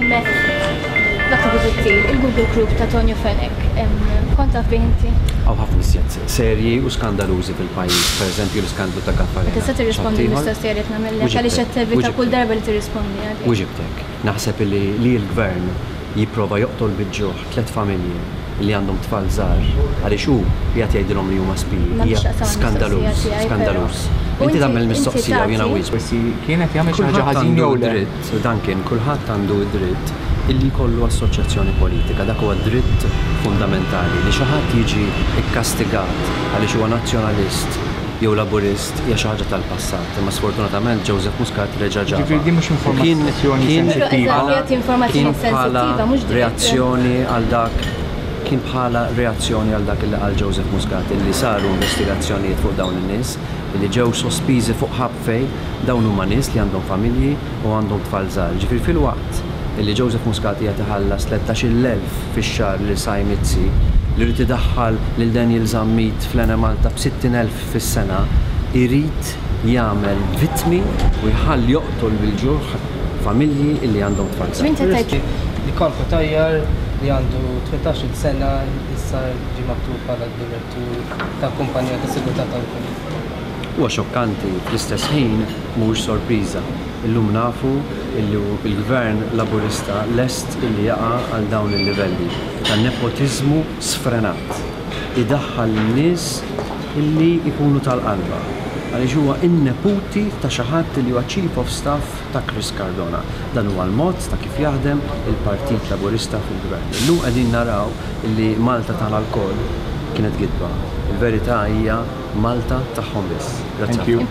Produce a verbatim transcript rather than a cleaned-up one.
Dottor Busuttil, il-Google Group ta' Tonio Fenech, kont taf bih inti? Hawn ħafna iżjed serji u skandalużi fil-pajjiż, pereżempju l-iskandlu ta' Gaffarena. Tista' tirrispondi l-mistoqsija li qed nagħmellek għaliex qed tevita kull darba li tirrispondi għalih. Wiġibtek. Naħseb li li l-gvern jipprova joqtol bil-ġuħ tliet familji li għandhom tfal żgħar għaliex hu qiegħed jgħidilhom li huma spiji. Hija skandaluż, skandaluż. Inti tagħmel mistoqsija u jiena wieġeb. Forsi kienet jagħmel xi ħaġa ħażin jew le. Dritt, Duncan, kulħadd għandu dritt illi jkollu assoċjazzjoni politika, dak huwa dritt fundamentali li xi ħadd jiġi ikkastigat għaliex huwa nazzjonalist jew laburist hija xi ħaġa tal-passat, imma sfortunatament Joseph Muscat reġa' ġabha. Ġifieri din mhux informazzjoni sensittiva. Informazzjoni sensittiva mhux reazzjoni għal dak kien bħala reazzjoni għal dak li qal Joseph Muscat illi saru investigazzjonijiet fuq dawn in-nies illi ġew sospiżi fuq ħabfej dawn huma nies li għandhom familji u għandhom tfal żgħar. Ġifieri fil-waqt illi Joseph Muscat qiegħed iħallas tlettax-il elf fix-xahar lil Sai Mizzi li rrid idaħħal lil Daniel Zammit fl-Enemalta b'sittin elf fis-sena, irid jagħmel vittmi u jħalli joqtol bil-ġuħ familji illi għandhom tfal żgħar. Li Karl Cutajar li għandu tmintax-il sena issa ġie maħtur bħala direttur ta' kumpanija ta' sigurtà tal-Kuwait. Huwa xokkanti, fl-istess ħin mhuwiex sorpriża. Illum nafu illi l-gvern laburista lest illi jaqa' għal dawn il-livelli ta' nepotiżmu sfrenat. Idaħħal lin-nies illi jkunu tal-qalba għaliex huwa in-neputi ta' xi ħadd li huwa Chief of Staff ta' Chris Cardona. Dan huwa l-mod ta' kif jaħdem il-Partit Laburista fil-Gvern. Illum qegħdin naraw illi Malta tagħna lkoll kienet gidba. Il-verità hija Malta tagħhom biss. Grazzi. Thank you.